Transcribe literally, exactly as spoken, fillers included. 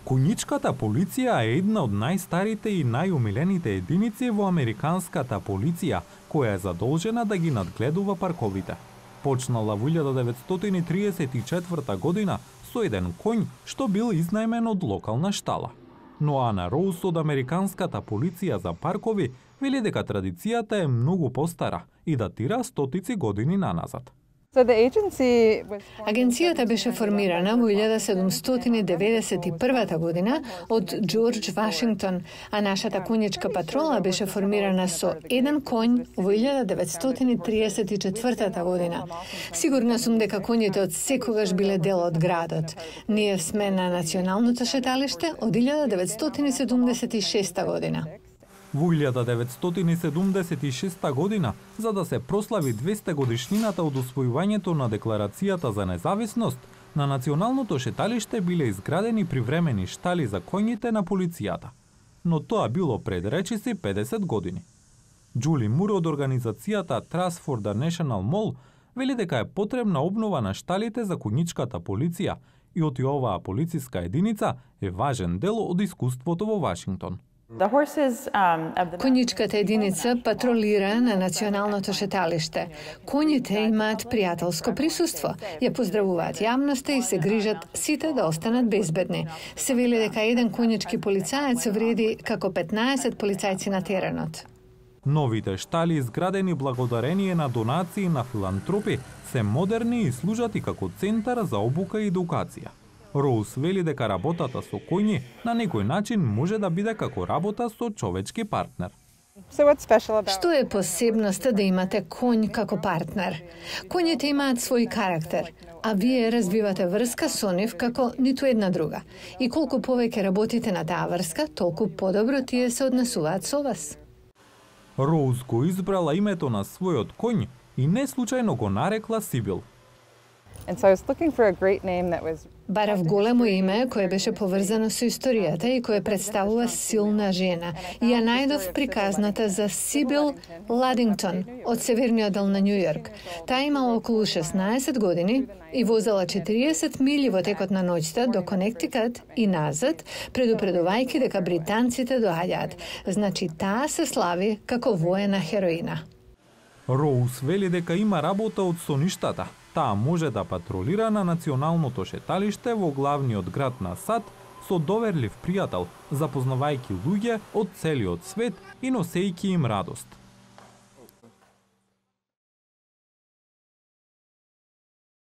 Конјичката полиција е една од најстарите и најумилените единици во американската полиција, која е задолжена да ги надгледува парковите. Почнала во илјада деветстотини триесет и четврта година со еден коњ што бил изнајмен од локална штала. Но Ана Роуз од американската полиција за паркови вели дека традицијата е многу постара и датира стотици години наназад. Агенцијата беше формирана во илјада седумстотини деветдесет и прва година од Џорџ Вашингтон, а нашата конјичка патрола беше формирана со еден коњ во илјада деветстотини триесет и четврта година. Сигурна сум дека коњите од секогаш биле дел од градот. Ние сме на националното шеталиште од илјада деветстотини седумдесет и шеста година. Во илјада деветстотини седумдесет и шеста година, за да се прослави двесте годишнината од усвојувањето на Декларацијата за независност, на националното шеталиште биле изградени привремени штали за коњите на полицијата. Но тоа било пред речиси педесет години. Џули Мур од организацијата Trust for the National Mall вели дека е потребна обнова на шталите за конјичката полиција и оти оваа полициска единица е важен дел од искуството во Вашингтон. Конјичката единица патролира на националното шеталиште. Коњите имаат пријателско присуство, ја поздравуваат јавноста и се грижат сите да останат безбедни. Се вели дека еден конјички полицаец вреди како петнаесет полицајци на теренот. Новите штали, изградени благодарение на донации на филантропи, се модерни и служат и како центар за обука и едукација. Роуз вели дека работата со коњи на некој начин може да биде како работа со човечки партнер. Што е посебноста да имате коњ како партнер? Коњите имаат свој карактер, а вие развивате врска со нив како ниту една друга. И колку повеќе работите на таа врска, толку подобро тие се однесуваат со вас. Роуз го избрала името на својот коњ и не случајно го нарекла Сибил. Барав големо име кое беше поврзано со историјата и кое представува силна жена. И ја најдов приказната за Сибил Ладингтон од северниот дел на Њујорк. Таа имала околу шеснаесет години и возела четириесет мили во текот на ноќта до Конектикат и назад, предупредувајќи дека британците доаѓаат. Значи таа се слави како воена хероина. Роуз вели дека има работа од соништата. Таа може да патролира на националното шеталиште во главниот град на САД со доверлив пријател, запознавајќи луѓе од целиот свет и носејќи им радост.